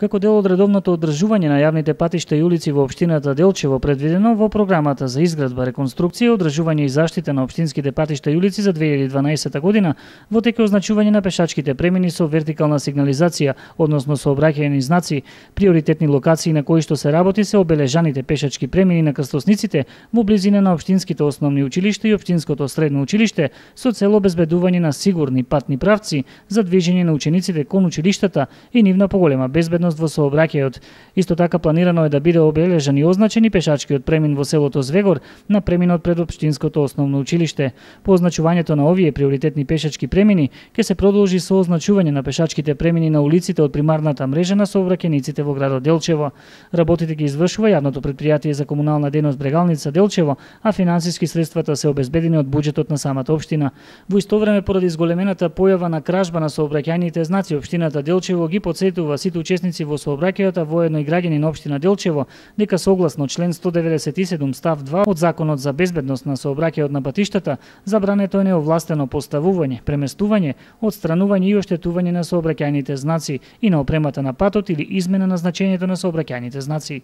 Како дел од редовното одржување на јавните патишта и улици во општината Делчево, предвидено во програмата за изградба, реконструкција, одржување и заштита на општинските патишта и улици за 2012 година, во тек е означување на пешачките премини со вертикална сигнализација, односно сообраќајни знаци. Приоритетни локации на кои што се работи се обележаните пешачки премини на крстосниците во близина на општинските основни училишта и општинското средно училиште, со цел обезбедување на сигурни патни правци за движење на учениците кон училиштата и нивна поголема безбедност во сообраќајот. Исто така планирано е да биде обележан и означен и пешачкиот премин во селото Звегор на преминот пред општинското основно училиште. По означувањето на овие приоритетни пешачки премини ќе се продолжи со означување на пешачките премини на улиците од примарната мрежа на сообраќајниците во градот Делчево. Работите ги извршува јавното претпријатие за комунална дејност Брегалница Делчево, а финансиски средствата се обезбедени од буџетот на самата општина. Во исто време, поради зголемената појава на кражба на сообраќајните знаци, општината Делчево ги потсетува сите учесници во сообраќајот, а воедно и граѓани на општина Делчево, дека согласно член 197 став 2 од Законот за безбедност на сообраќајот на патиштата, забрането е неовластено поставување, преместување, отстранување и оштетување на сообраќајните знаци и на опремата на патот или измена на значењето на сообраќајните знаци.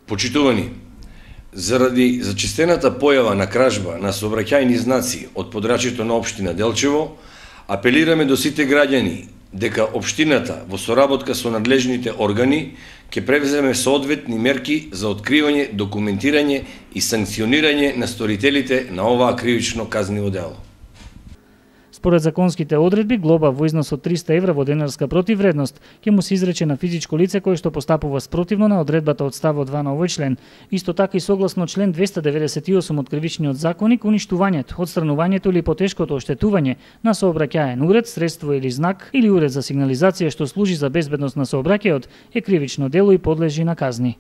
Почитувани, заради зачестената појава на кражба на сообраќајни знаци од подрачјето на општина Делчево, апелираме до сите граѓани дека општината во соработка со надлежните органи ќе превземе соодветни мерки за откривање, документирање и санкционирање на сторителите на оваа кривично казниво дело. Според законските одредби, глоба во износ од 300 евра во денарска противвредност ќе му се изрече на физичко лице кое што постапува спротивно на одредбата од ставот 2 на овој член. Исто така и согласно член 298 од Кривичниот законник, уништувањето, отстранувањето или потешкото оштетување на сообраќаен уред, средство или знак или уред за сигнализација што служи за безбедност на сообраќајот е кривично дело и подлежи на казни.